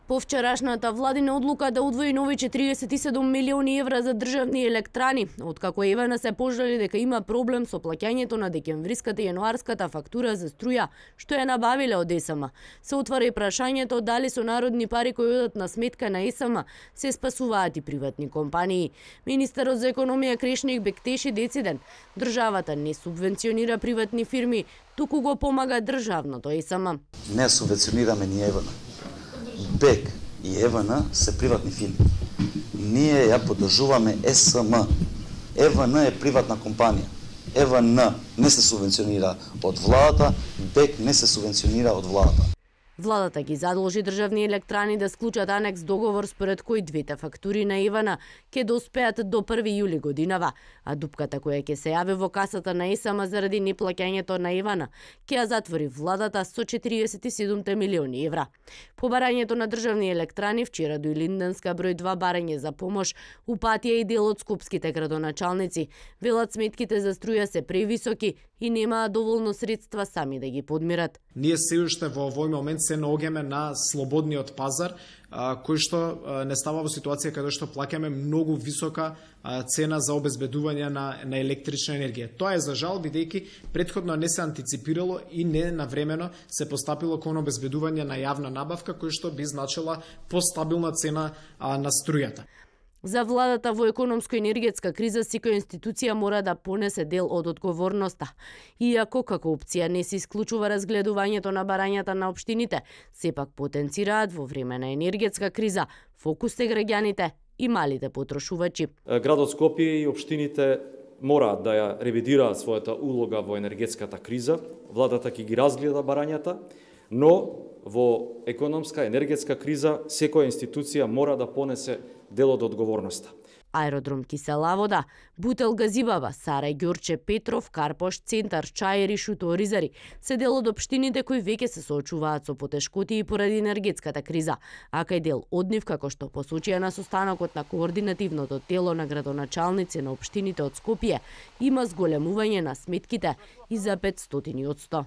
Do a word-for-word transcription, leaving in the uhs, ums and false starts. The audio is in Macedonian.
По вчерашната владина одлука да удвои нови четириесет и седум милиони евра за државни електрани, откако ЕВН се пожали дека има проблем со плаќањето на декемвриската и јануарската фактура за струја, што ја набавиле од ЕСМ. Се отвара и прашањето дали со народни пари кои одат на сметка на ЕСМ се спасуваат и приватни компании. Министерот за економија Крешник Бектеши дециден, државата не субвенционира приватни фирми, туку го помага државното ЕСМ. Не субвенционираме ни ЕВН. БЕК и ЕВН се приватни фирми. Ние ја поддржуваме ЕСМ. ЕВН е приватна компанија. ЕВН не се субвенционира од владата, БЕК не се субвенционира од владата. Владата ги задолжи државни електрани да склучат анекс договор според кој двете фактури на ЕВН ќе доспеат до први јули годинава, а дупката која ќе се јави во касата на ЕСМ заради неплаќањето на ЕВН ќе ја затвори владата со четириесет и седум милиони евра. По барањето на државни електрани вчера до Илинденска број два барање за помош упатија и дел од скопските градоначалници. Велат сметките за струја се превисоки и немаа доволно средства сами да ги подмират. Ние се уште во овој момент се наоѓаме на слободниот пазар, кој што не става во ситуација каде што плаќаме многу висока цена за обезбедување на, на електрична енергија. Тоа е за жал, бидејќи претходно не се антиципирало и не навремено се постапило кон обезбедување на јавна набавка, кој што би значила постабилна цена на струјата. За владата во економско-енергетска криза секоја институција мора да понесе дел од одговорноста. Иако како опција не се исклучува разгледувањето на барањата на општините, сепак потенцираат во време на енергетска криза фокус е граѓаните и малите потрошувачи. Градот Скопје и општините мораат да ја ревидираат својата улога во енергетската криза. Владата ќе ги разгледа барањата, но во економска енергетска криза секоја институција мора да понесе дел од одговорноста. Аеродром Кисела вода, Бутел Газибаба, Сарај Ѓорче Петров, Карпош Центар, Чаери, Шуто Ризари се дел од општините кои веќе се соочуваат со потешкоти и поради енергетската криза, а кај дел од нив, како што посочија на состанокот на координативното тело на градоначалници на општините од Скопје, има зголемување на сметките и за петстотини од сто.